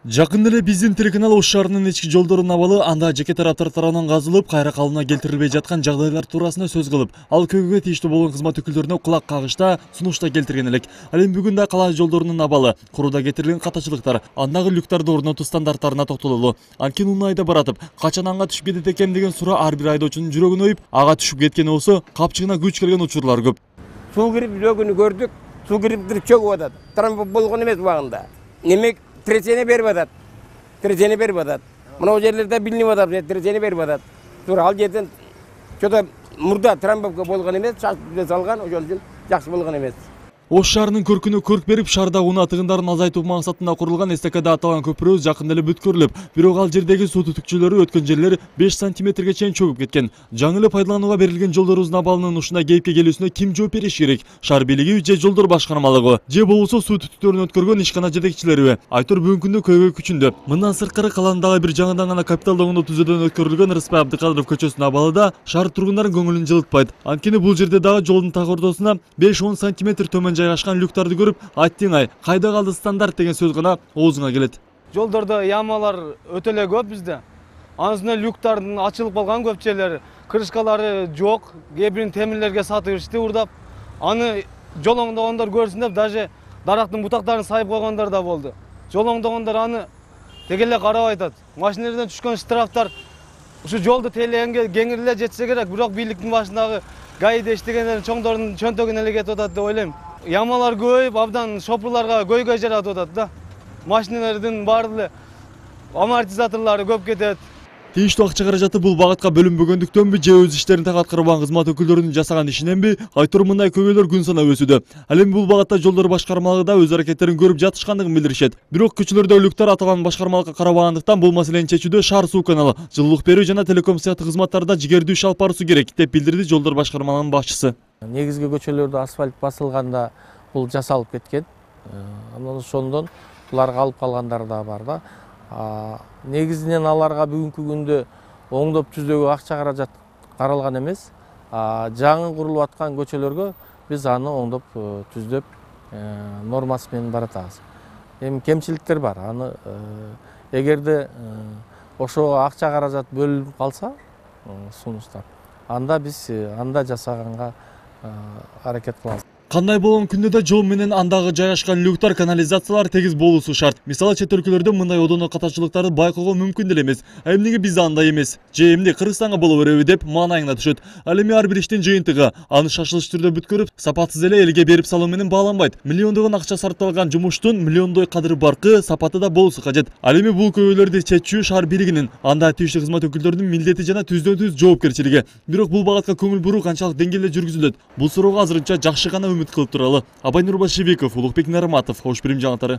Жакында эле биздин телеканал Ош шаарынын ички жолдорунун абалы анда жеке тараптар тарабынан казылып, кайра калыбына келтирилбей жаткан жагдайлар туурасында сөз кылып, ал көйгөйгө тийиштүү болгон кызмат өкүлдөрүнө кулак кагышта сунушта келтирген элек. Ал эми бүгүн да кала жолдорунун абалы, курууда кетирилген катачылыктар, андагы люктарды орнотуу стандарттарына токтололу. Анткени унаа айда баратып, качан аңга түшүп кетет экем деген суроо ар бир айдоочунун жүрөгүн оюп, ага түшүп кеткени болсо, капчыгына күч келген учурлар көп. Суу кирип жүрөгүнү көрдүк, суу кирип чөгүп атат. Трамп болгон эмес убагында. Немек тресени берип атат. Тресени берип атат. Мына жерлерде билинип атат, тресени берип атат. Тура ал жерден чөтө мурда трамбовка болгон эмес, чачып салган, ошон үчүн жакшы болгон эмес. Ош шаарынын көркүнө көрк берип, шаардагы унаа тыгындарын азайтуу максатында курулган эстакада аталган көпүрөбүз жакында эле бүткөрүлүп, бирок ал жердеги суу түтүкчөлөрү өткөн жерлер 5 сантиметрге чейин чөгүп кеткен. Жаңы эле пайдаланууга берилген жолдорубуздун абалынын ушундай кейипке келүүсүнө ким жооп бериши керек? Шаар бийлиги же жолдор башкармалыгы? Же болбосо суу түтүктөрүн өткөргөн ишкана жетекчилериби? Айтор бүгүнкү күндө көйгөй күчүндө. Мындан сырткары каланын дагы бир жаңыдан гана капиталдыгында түзөөдөн өткөрүлгөн Рыспай Абдыкадыров көчөсүнүн абалы да шаар тургундарын көңүлүн жылытпайт. Анткени бул жерде дагы жолдун так ортосуна 5-10 сантиметр төмөн жайгашкан люктарды көрүп, айттың-ай, кайда калды стандарт деген сөз гана оозуңа келет. Жолдордо ямалар өтө эле көп бизде. Анын үстүнө люктардын ачылып калган көп жерлери, крышкалары жок, кээ бирин темирлерге сатып ичти урдап. Аны жол оңдогондор көрсүн деп даже дарактын бутактарын сайып койгондор да болду. Жол оңдогондор аны теге эле карабай атат. Машиналардан түшкөн штрафтар ушу жолду тейлегенге кеңири эле жетсе керек, бирок бийликтин башындагы гаиде иштегендердин чоңдордун чөнтөгүнө эле кетип атат деп ойлойм. Ямалар көбөйүп, абдан шопурларга көйгөй жаратып атат да. Машиналардын баары эле амортизаторлору көп кетет. Тийиштүү акча каражаты бул багытка бөлүнбөгөндүктөнбү же өз иштерин так аткарбаган кызмат өкүлдөрүнүн жасаган ишиненби, айтор мындай көйгөйлөр күн санап өсүүдө. Ал эми бул багытта жолдор башкармалыгы да өз аракеттерин көрүп жатышкандыгын билдиришет. Бирок көчөлөрдө люктар аталган башкармалыкка карабагандыктан бул маселени чечүүдө шаар суу каналы, жылуулук берүү жана телеком сыяктуу кызматтарда жигердүү иш алып баруусу керек, деп билдирди жолдор башкармалыгынын башчысы. Негизги көчөлөрдө асфальт басылганда бул жасалып кеткен. Анан ошондон булар калып калгандары да бар да. Негизинен аларга бүгүнкү күндө оңдоп түзөөгө акча каражат каралган эмес. Жаңы курулуп аткан көчөлөргө биз аны оңдоп түздөп нормасы менен баратабыз. Эми кемчиликтер бар. Аны эгерде ошого акча каражат бөлүнүп калса, сунуштар, анда биз анда жасаганга аракет кылабыз. Кандай болгон күндө да жол менен андагы жайгашкан люктар, канализациялар тегиз болуусу шарт. Мисалы чет өлкөлөрдө мындай одоно катачылыктарды байкоого мүмкүн деле эмес. Эмнеге бизде андай эмес? Же эмне Кыргызстанга боло береби деп маанайыңда түшөт. Ал эми ар бир иштин жыйынтыгы, аны шашылыш түрдө бүткөрүп, сапатсыз эле элге берип салуу менен бааланбайт. Миллиондогон акча сарпталган жумуштун миллиондой кадыры баркы, сапаты да болуусу кажет. Ал эми бул көйгөйлөрдү чечүү шаар бийлигинин, анда тийиштүү кызмат өкүлдөрүнүн милдети жана түздөн-түз жоопкерчилиги. Бирок бул багытка көңүл буруу канчалык деңгээлде жүргүзүлөт? Бул суроого азырынча жакшы гана үмүт кылып туралы. Абай Нурбашевиков, Улукбек Нарматов, Ош Бирим жаңылыктары.